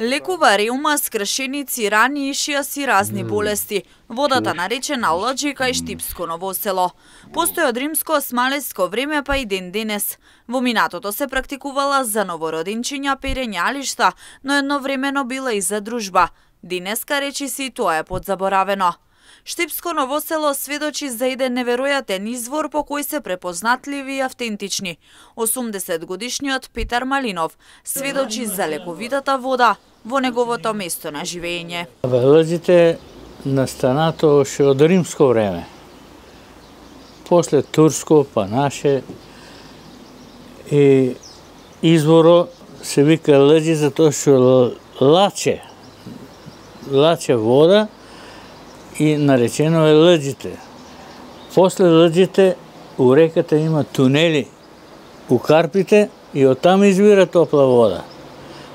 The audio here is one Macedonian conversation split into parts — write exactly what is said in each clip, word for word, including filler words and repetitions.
Лекува реума, скршеници, рани, ишијас и разни болести. Водата наречена Лџи кај Штипско Ново село. Постои од римско-османлиско време па и ден денес. Во минатото се практикувала за новородинчиња перењалишта, но едновремено била и за дружба. Денеска речиси тоа е подзаборавено. Штипско Ново село сведочи за еден неверојатен извор по кој се препознатливи и автентични. осумдесет годишниот Петар Малинов сведочи за лековитата вода во неговото место на живење. Лџите настанато още од римско време. После турско, па наше. И изворо се вика Лџи затоа што лаче. Лаче вода и наречено е Лџите. После Лџите у реката има тунели у Карпите и оттам извира топла вода.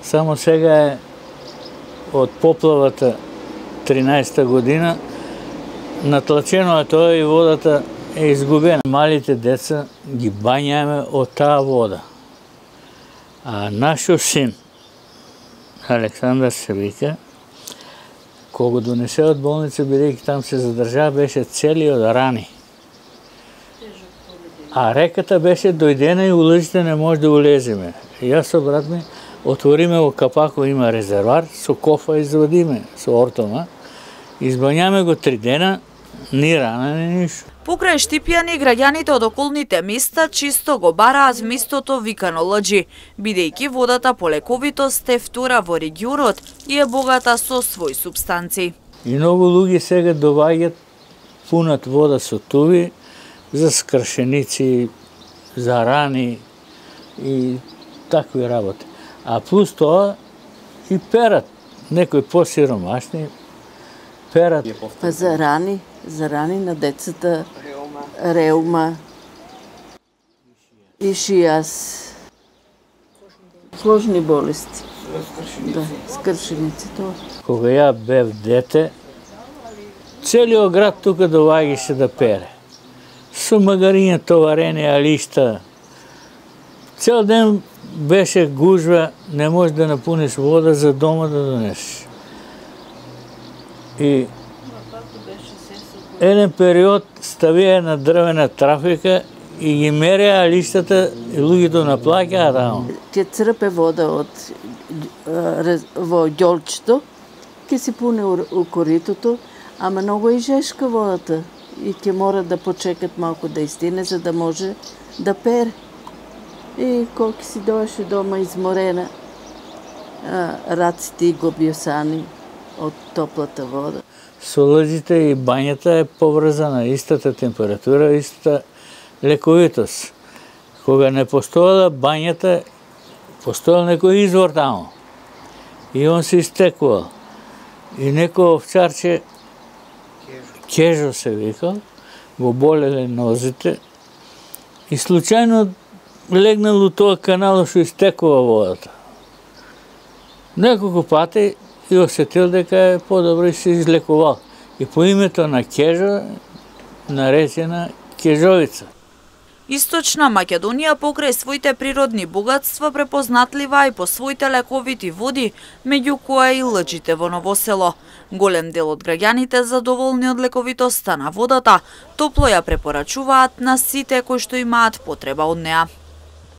Само сега е од поплавата тринаесетта година натлачено е тоа и водата е изгубена. Малите деца ги бањаме од таа вода. А нашиот син Александар се вика, кога донесе од болница, бидејќи там се задржа, беше цели од рани. А реката беше дојдена и у Лџите не може да улеземе. Јас со брат ми отвориме во капако, има резервар, со кофа извадиме, со ортома, избањаме го три дена, ни рана, ни ништо. Покрај Штипјани, граѓаните од околните места чисто го бараат местото викано Лџи, бидејќи водата по лековитост е втора во регионот и е богата со свој супстанци. И многу луѓе сега доваѓат, пунат вода со туви за скршеници, за рани и такви работи. А плюс тоа и перат, некои посиромашни перат. Па за рани, за рани на децата, реума, ишијас, сложни болести. Да, скршеници тоа. Кога ја бев дете, целиот град тука доваѓаше да пере. Со магариња товарени, алишта. Цел ден беше гужва, не можеш да напуниш вода за дома да донесеш. И еден период ставија една дрвена трафика и ги мереа лиштата и луѓето наплаќаа таму. Ќе црпе вода од во ѓолчето, ќе се пуне у коритото, ама многу и жешка водата и ќе мора да почекат малку да истине за да може да пере. И колку си дојаше дома изморена, раците и гобјосани од топлата вода. Со Лџите и бањата е поврзана истата температура, истата лековитост. Кога не постоела бањата, постоел некој извор таму. И он се истекувал. И некој овчарче, Кежо се викал, го болеле нозите и случајно легнал у тоа канало што истекува водата. Неколку пати и осетил дека е подобро и се излекувал. И по името на Кежо наречена Кежовица. Источна Македонија покрај своите природни богатства препознатлива и по своите лековити води, меѓу кои и Лџите во Ново село. Голем дел од граѓаните задоволни од лековитоста на водата, топло ја препорачуваат на сите кои што имаат потреба од неа.